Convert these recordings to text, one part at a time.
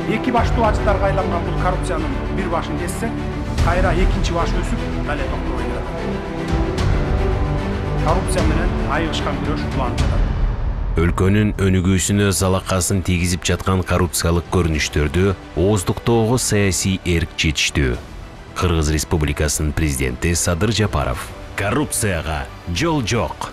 Эки баштуу ажыттарга айланган бул коррупциянын бир башын кессе, кайра экинчи баш өсүп, дале токтобой келет. Коррупция менен айыгышкан күрөш уланып жатат. Өлкөнүн өнүгүүсүнө залакасын тийгизип жаткан коррупциялык көрүнүштөрдү ооздуктоого саясий эрк жетиштүү. Кыргыз Республикасынын президенти Садыр Жапаров: коррупцияга жол жок.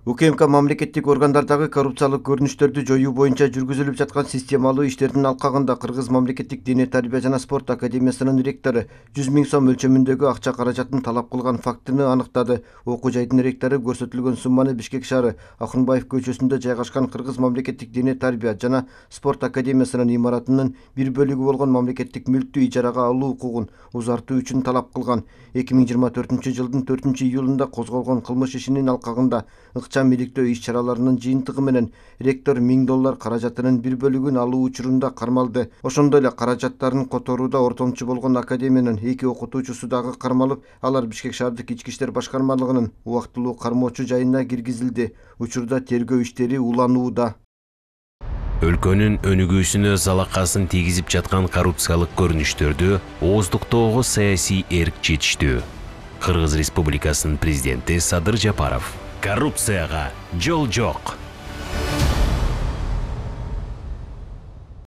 УКМК мамлекеттик органдардагы коррупциялык көрүнүштөрдү жоюу боюнча жүргүзүлүп жаткан системалуу иштердин алкагында Кыргыз мамлекеттик диний тарбия жана спорт академиясынын ректору 100 000 сом өлчөмүндөгү акча каражатын талап кылган фактыны аныктады. Окуу жайдын ректору көрсөтүлгөн сумманы Бишкек шаары Акунбаев көчөсүндө жайгашкан Кыргыз мамлекеттик диний тарбия жана спорт академиясынын имаратынын бир бөлүгү болгон мамлекеттик мүлктү ижарага алуу укугун узартуу үчүн талап кылган. 2024-жылдын 4-июлунда козголгон кылмыш ишинин алкагында ыкчам иликтөө иш-чараларынын жыйынтыгы менен ректор $1000 каражатынын бир бөлүгүн алуу учурунда кармалды. Ошондой эле каражаттарын которууда ортомчу болгон академиянын 2 окутуучусу дагы кармалып, алар Бишкек шаардык ички иштер башкармалыгынын убактылуу кармоочу жайына киргизилди. Учурда тергөө иштери уланууда. Өлкөнүн өнүгүүсүнө залакасын тийгизип жаткан коррупциялык көрүнүштөрдү ооздуктоого саясий эрк жетиштүү. Кыргыз Республикасынын президенти Садыр Жапаров: коррупцияга жол жок.